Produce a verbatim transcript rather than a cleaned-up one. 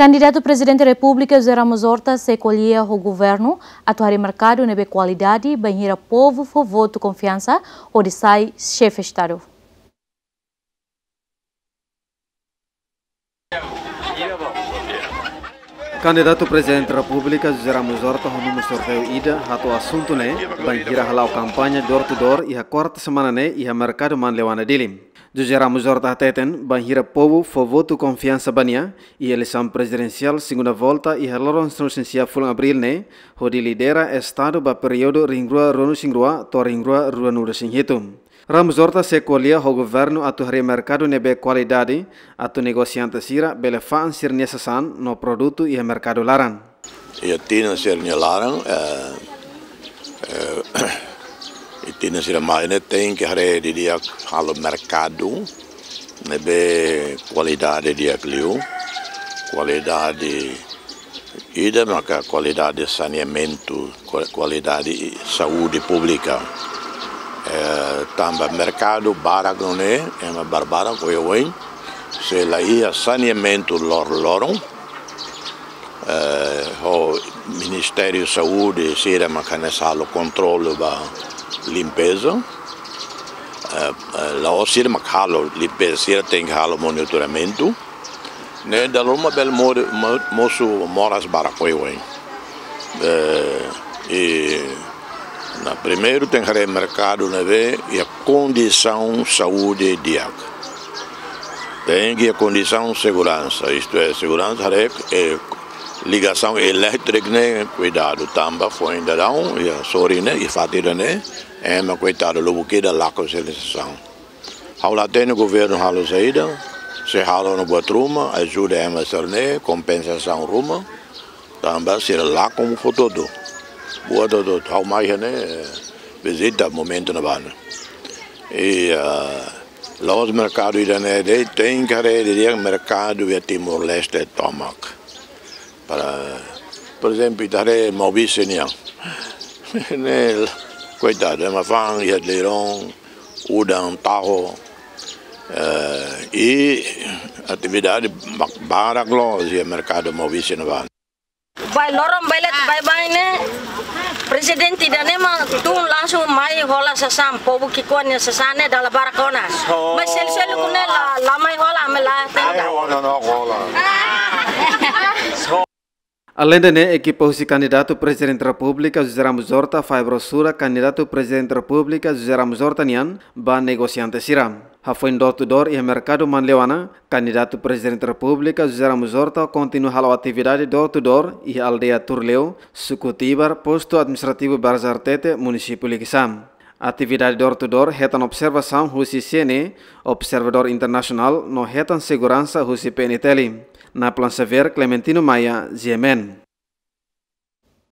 Kandidatu Prezidente Repúblika José Ramos Horta sei ko'alia ho governu atu harii merkadu ne'ebé kualidade bainhira povu fó votu konfiansa hodi sai xefe Estadu. Kandidatu Prezidente Repúblika José Ramos Horta ho númeru sorteiu ida hato'o asuntu ne'e bainhira hala'o kampaña door to door iha kuarta semana ne'e iha merkadu Manleuana, Dili. José Ramos Horta hateten bainhira povu fó votu konfiansa ba nia iha eleisaun prezidensiál segunda volta iha loron sanulu-resin-sia fulan Abríl ne'e, hodi lidera Estadu ba períodu rihun rua ruanulu-resin-rua to'o rihun rua ruanulu-resin-hitu. Ramos Horta sei ko'alia ho governu atu harii merkadu ne'ebé kualidade, atu negosiante sira bele fa'an sira-nia sasán no produtu iha merkadu laran. Iha tinan sira-nia laran, eh, eh, iha tinan sira mai ne'e tenke haree didi'ak halo merkadu ne'ebé kualidade di'ak liu, kualidade ida maka kualidade saneamentu, kua-, kualidade saúde públika. Eh, tanba merkadu barak nune'e, ema barbarak oioin, se la iha saneamentu loroloron, eh, ho Ministériu Saúde sira maka hanesan halo kontrolu ba limpeza. Eh, eh, la'ós sira maka halo limpeza, sira tenke halo monitoramentu. Ne'e dala ruma bele mori-, mo-, mosu moras barak oioin. Eh, i primeiru tenke haree merkadu ne'ebé iha kondisaun saúde di'ak. Tenke iha kondisaun seguransa, isto é, seguransa haree, eh, ligasaun elétrika ne'e kuidadu tanba foin daudaun, iha sorin ne'e, iha fatin ida-ne'e, ema koitadu lubuk ida lakon sira-nia sasán. Ha'u la hatene governu halo saida, se halo no buat ruma, ajuda ema sira-ne'e, kompensasaun ruma, tanba sira lakon fó hotu-hotu. Buat hotu-hotu, ha'u mai iha ne'e, eh, vizita momentu ne'ebá ne'e. I, ah, la'ós merkadu ida-ne'e de'it, tenke haree didi'ak merkadu iha Timor-Leste tomak. Para, por ezemplu, ita haree Maubisse nian. Ne'e, koitadu, ema fa'an iha Leiron, udan, taho, eh, i atividade ba-, barak loos iha merkadu Maubisse ne'ebá. Bailoron, bailet, baibain ne'e, prezidente ida-ne'e mak tun langsung mai hola sasán, povu ki'ikoan nia sasán ne'e dala barak ona. Mas selu-seluk ne'e la, la mai hola, ami la hatene. Aleinde ne'e, ekipa husi kandidatu Prezidente Repúblika José Ramos Horta fahe brosura kandidatu Prezidente Repúblika José Ramos Horta nian ba negosiante sira. Hafoin door to door iha merkadu Manleuana, kandidatu Prezidente Repúblika José Ramos Horta kontinua halo atividade door to door iha aldeia Turleu, suku Tibar, postu administrativu Barzartete, munisípiu Likisá. Atividade door to door hetan observasaun husi C N E, observadór internasionál no hetan seguransa husi P N T L. Naplan Xavier, Clementino Maia, G M N.